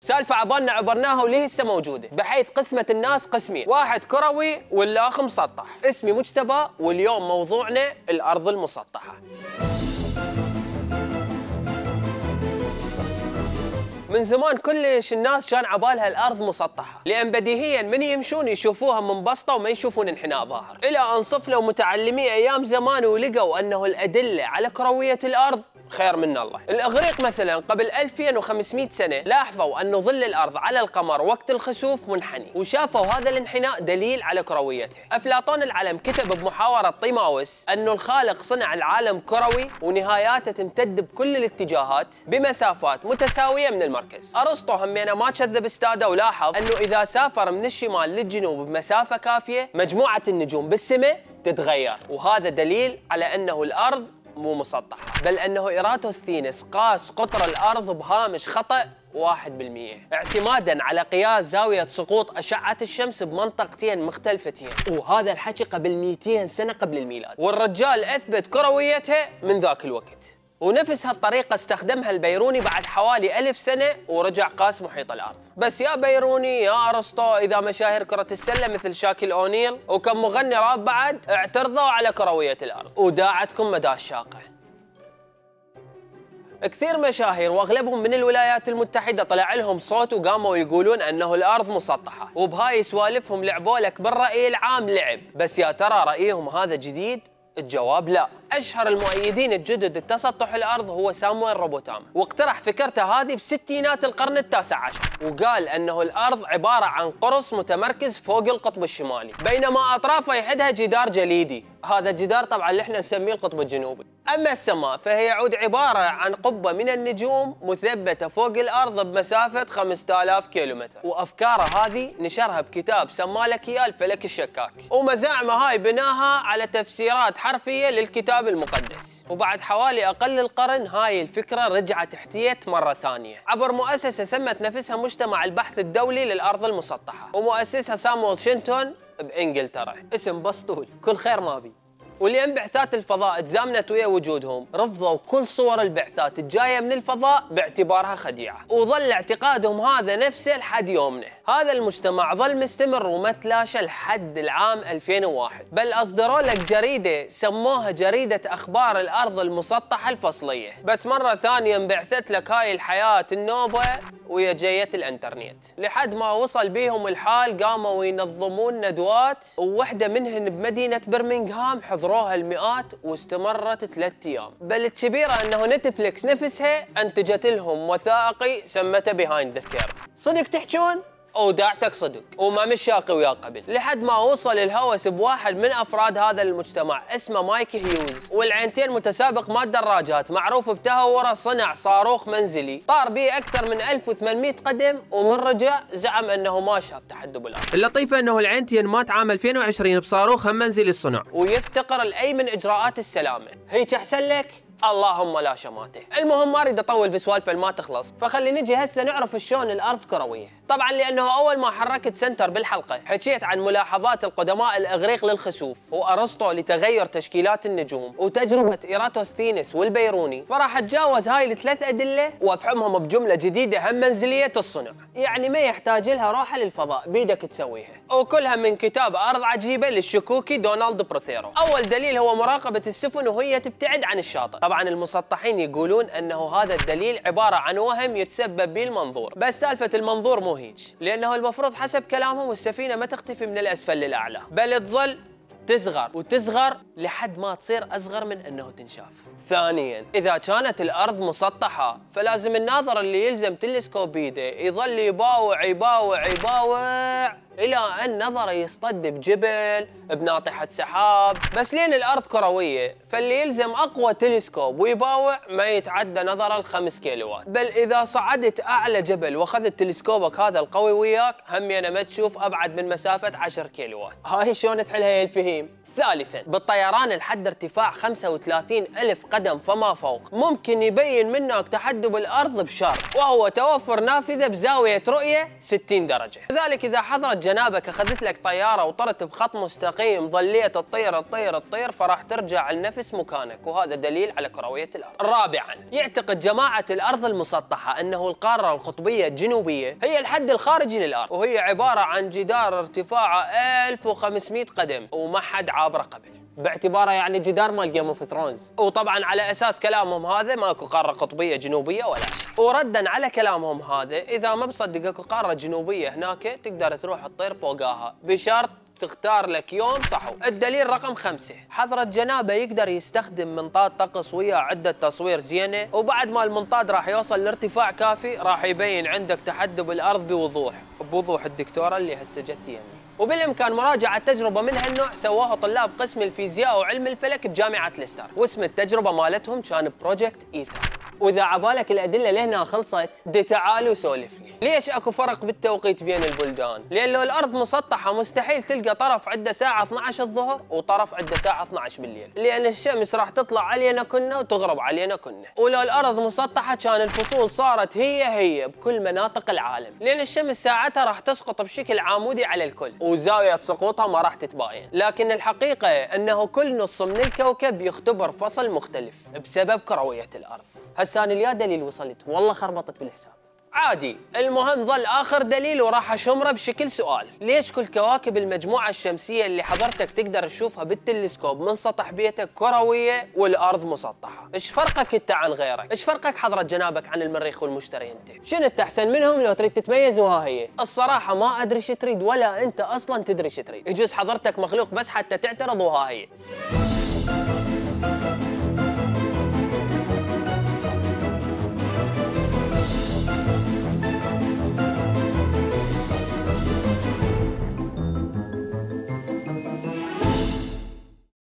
سالفة عبالنا عبرناها وليه هسه موجودة، بحيث قسمت الناس قسمين، واحد كروي والآخر مسطح. اسمي مجتبى واليوم موضوعنا الأرض المسطحة. من زمان كلش الناس كان عبالها الأرض مسطحة، لأن بديهياً من يمشون يشوفوها منبسطة وما يشوفون انحناء ظاهر، إلى أن صفلوا متعلمي أيام زمان ولقوا أنه الأدلة على كروية الأرض خير من الله. الإغريق مثلاً قبل 2500 سنة لاحظوا أن ظل الأرض على القمر وقت الخسوف منحني، وشافوا هذا الانحناء دليل على كرويته. أفلاطون العلم كتب بمحاورة طيماوس أنه الخالق صنع العالم كروي ونهاياته تمتد بكل الاتجاهات بمسافات متساوية من المركز. أرسطو همينه ما كذب استاده ولاحظ أنه إذا سافر من الشمال للجنوب بمسافة كافية مجموعة النجوم بالسماء تتغير، وهذا دليل على أنه الأرض مو مسطحة، بل أنه إيراتوستينس قاس قطر الأرض بهامش خطأ 1% اعتمادا على قياس زاوية سقوط أشعة الشمس بمنطقتين مختلفتين، وهذا الحكي قبل 200 سنة قبل الميلاد، والرجال أثبت كرويتها من ذاك الوقت. ونفس هالطريقة استخدمها البيروني بعد حوالي 1000 سنة ورجع قاس محيط الأرض. بس يا بيروني يا أرسطو، إذا مشاهير كرة السلة مثل شاكيل أونيل وكم مغني راب بعد اعترضوا على كروية الأرض وداعتكم مدى الشاقة. كثير مشاهير واغلبهم من الولايات المتحدة طلع لهم صوت وقاموا يقولون انه الارض مسطحة، وبهاي سوالفهم لعبوا لك بالرأي العام لعب. بس يا ترى رأيهم هذا جديد؟ الجواب لا. أشهر المؤيدين الجدد لتسطح الأرض هو سامويل روبوتام، واقترح فكرته هذه بستينات القرن التاسع عشر، وقال أنه الأرض عبارة عن قرص متمركز فوق القطب الشمالي، بينما أطرافه يحدها جدار جليدي. هذا الجدار طبعا اللي احنا نسميه القطب الجنوبي. أما السماء فهي يعود عبارة عن قبة من النجوم مثبتة فوق الأرض بمسافة 5000 كيلومتر، وأفكاره هذه نشرها بكتاب سماه لك إياه الفلك الشكاك، ومزاعمه هاي بناها على تفسيرات حرفية للكتاب المقدس. وبعد حوالي أقل القرن هاي الفكرة رجعت احتيت مرة ثانية عبر مؤسسة سمت نفسها مجتمع البحث الدولي للأرض المسطحة، ومؤسسها سامويل شينتون بإنجلترا. اسم بسطول كل خير ما بي. ولين بعثات الفضاء تزامنت ويا وجودهم رفضوا كل صور البعثات الجاية من الفضاء باعتبارها خديعة، وظل اعتقادهم هذا نفسه لحد يومنا. هذا المجتمع ظل مستمر وما تلاشى لحد العام 2001، بل أصدروا لك جريدة سموها جريدة أخبار الأرض المسطحة الفصلية. بس مرة ثانية انبعثت لك هاي الحياة النوبة ويا جية الانترنت، لحد ما وصل بيهم الحال قاموا ينظمون ندوات، ووحدة منهن بمدينة برمنغهام حضروها المئات واستمرت 3 أيام. بل الكبيرة أنه نتفليكس نفسها أنتجت لهم وثائقي سمته بيهايند ذا كيرف. صدق تحجون؟ وداعتك صدق وما مش شاقي ويا قبل، لحد ما وصل الهوس بواحد من افراد هذا المجتمع اسمه مايك هيوز، والعينتين متسابق مال دراجات معروف بتهوره صنع صاروخ منزلي طار به اكثر من 1800 قدم، ومن رجع زعم انه ما شاف تحدب الارض. اللطيفه انه العينتين مات عام 2020 بصاروخ منزلي الصنع، ويفتقر لاي من اجراءات السلامه. هيك احسن لك؟ اللهم لا شماته. المهم ما اريد اطول بسوالف ما تخلص، فخلي نجي هسه نعرف شلون الارض كرويه. طبعا لانه اول ما حركت سنتر بالحلقه حكيت عن ملاحظات القدماء الاغريق للخسوف، وارسطو لتغير تشكيلات النجوم، وتجربه ايراتوستينس والبيروني، فراح اتجاوز هاي الثلاث ادله وافهمهم بجمله جديده هم منزليه الصنع، يعني ما يحتاج لها روحه للفضاء بيدك تسويها، وكلها من كتاب ارض عجيبه للشكوكي دونالد بروثيرو. اول دليل هو مراقبه السفن وهي تبتعد عن الشاطئ. طبعا المسطحين يقولون انه هذا الدليل عباره عن وهم يتسبب به المنظور، بس سالفه المنظور مو هيك، لانه المفروض حسب كلامهم السفينه ما تختفي من الاسفل للاعلى، بل تظل تصغر وتصغر لحد ما تصير اصغر من انه تنشاف. ثانيا، اذا كانت الارض مسطحه فلازم الناظر اللي يلزم تلسكوب بيده يظل يباوع يباوع يباوع الى ان نظره يصطد بجبل بناطحه سحاب. بس لين الارض كرويه فاللي يلزم اقوى تلسكوب ويباوع ما يتعدى نظره ال5 كيلوات، بل اذا صعدت اعلى جبل واخذت تلسكوبك هذا القوي وياك همينه ما تشوف ابعد من مسافه 10 كيلوات. هاي شلون تحلها يا الفهيم؟ ثالثا، بالطيران لحد ارتفاع 35,000 قدم فما فوق ممكن يبين منك تحدب الأرض بشرط، وهو توفر نافذة بزاوية رؤية 60 درجة. لذلك إذا حضرت جنابك أخذت لك طيارة وطرت بخط مستقيم ظليت تطير فراح ترجع النفس مكانك، وهذا دليل على كروية الأرض. رابعا، يعتقد جماعة الأرض المسطحة أنه القارة القطبية الجنوبية هي الحد الخارجي للأرض، وهي عبارة عن جدار ارتفاعه 1500 قدم وما حد عابره قبل، باعتباره يعني جدار مال جيم اوف ثرونز. وطبعا على اساس كلامهم هذا ماكو قاره قطبيه جنوبيه ولا شيء. وردا على كلامهم هذا، اذا ما بصدق اكو قاره جنوبيه هناك تقدر تروح تطير فوقاها بشرط تختار لك يوم صحو. الدليل رقم 5، حضرة جنابه يقدر يستخدم منطاد طقس ويا عدة تصوير زينة، وبعد ما المنطاد راح يوصل لارتفاع كافي راح يبين عندك تحدب الأرض بوضوح الدكتورة اللي هسه جت يمي. وبالامكان مراجعه تجربه من هالنوع سووها طلاب قسم الفيزياء وعلم الفلك بجامعه ليستر، واسم التجربه مالتهم كان بروجكت ايثر. واذا عبالك الادله لهنا خلصت، دي تعال وسولف لي، ليش اكو فرق بالتوقيت بين البلدان؟ لان لو الارض مسطحه مستحيل تلقى طرف عنده ساعه 12 الظهر وطرف عنده ساعه 12 بالليل، لان الشمس راح تطلع علينا كنا وتغرب علينا كنا. ولو الارض مسطحه كان الفصول صارت هي بكل مناطق العالم، لان الشمس ساعتها راح تسقط بشكل عمودي على الكل وزاويه سقوطها ما راح تتباين. لكن الحقيقه انه كل نص من الكوكب يختبر فصل مختلف بسبب كرويه الارض. هسه انا اليا دليل وصلت والله خربطت بالحساب. عادي، المهم ظل آخر دليل وراح أشمره بشكل سؤال، ليش كل كواكب المجموعة الشمسية اللي حضرتك تقدر تشوفها بالتلسكوب من سطح بيتك كروية والأرض مسطحة؟ إيش فرقك أنت عن غيرك؟ إيش فرقك حضرة جنابك عن المريخ والمشتري أنت؟ شنو أنت أحسن منهم لو تريد تتميز وها هي؟ الصراحة ما أدري شو تريد ولا أنت أصلاً تدري شو تريد، يجوز حضرتك مخلوق بس حتى تعترض وها هي.